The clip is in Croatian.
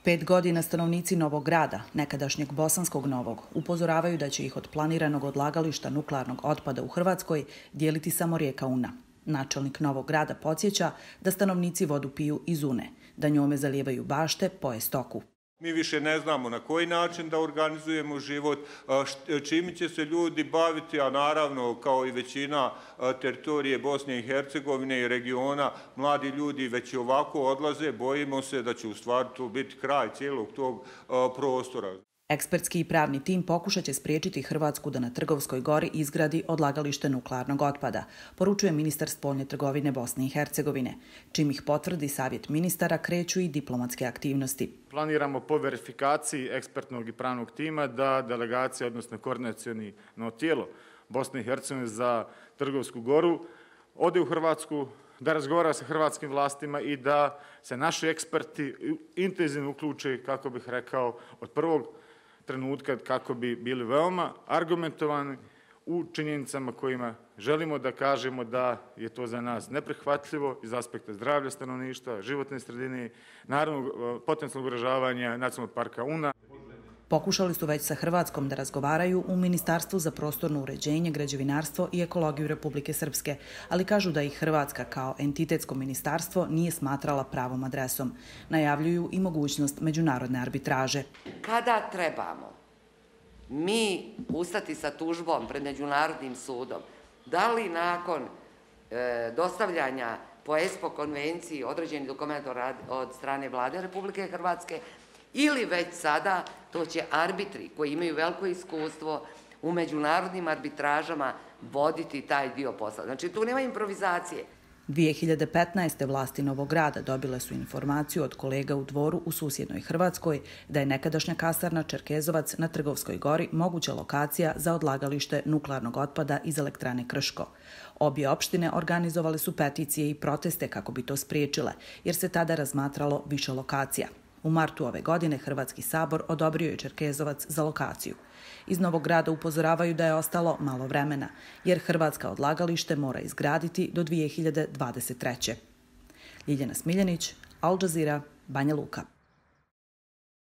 5 godina stanovnici Novog Grada, nekadašnjeg Bosanskog Novog, upozoravaju da će ih od planiranog odlagališta nuklearnog otpada u Hrvatskoj dijeliti samo rijeka Una. Načelnik Novog Grada podsjeća da stanovnici vodu piju iz Une, da njome zalijevaju bašte, poje stoku. Mi više ne znamo na koji način da organizujemo život, čime će se ljudi baviti, a naravno kao i većina teritorije Bosne i Hercegovine i regiona, mladi ljudi već i ovako odlaze, bojimo se da će u stvari to biti kraj cijelog tog prostora. Ekspertski i pravni tim pokušat će spriječiti Hrvatsku da na Trgovskoj gori izgradi odlagalište nuklearnog otpada, poručuje ministar spoljne trgovine Bosne i Hercegovine. Čim ih potvrdi Savjet ministara, kreću i diplomatske aktivnosti. Planiramo po verifikaciji ekspertnog i pravnog tima da delegacija, odnosno koordinaciono tijelo Bosne i Hercegovine za Trgovsku goru ode u Hrvatsku, da razgovara sa hrvatskim vlastima i da se naši eksperti intenzivno uključe, kako bih rekao, od prvog trenutka kako bi bili veoma argumentovani u činjenicama kojima želimo da kažemo da je to za nas neprihvatljivo iz aspekta zdravlja stanovništva, životne sredine, naravno potencijalnog ugrožavanja Nacionalnog parka Una. Pokušali su već sa Hrvatskom da razgovaraju u Ministarstvu za prostorno uređenje, građevinarstvo i ekologiju Republike Srpske, ali kažu da ih Hrvatska kao entitetsko ministarstvo nije smatrala pravom adresom. Najavljuju i mogućnost međunarodne arbitraže. Kada trebamo mi ustati sa tužbom pred Međunarodnim sudom, da li nakon dostavljanja po ESPO konvenciji određenih dokumenta od strane Vlade Republike Hrvatske, ili već sada, to će arbitri koji imaju veliko iskustvo u međunarodnim arbitražama voditi taj dio posla. Znači, tu nema improvizacije. 2015. vlasti Novog Grada dobile su informaciju od kolega u Dvoru u susjednoj Hrvatskoj da je nekadašnja kasarna Čerkezovac na Trgovskoj gori moguća lokacija za odlagalište nuklearnog otpada iz elektrane Krško. Obje opštine organizovale su peticije i proteste kako bi to spriječile, jer se tada razmatralo više lokacija. U martu ove godine Hrvatski sabor odobrio je Čerkezovac za lokaciju. Iz Novog Grada upozoravaju da je ostalo malo vremena, jer Hrvatska odlagalište mora izgraditi do 2023. Ljiljana Smiljanić, Al Jazeera, Banja Luka.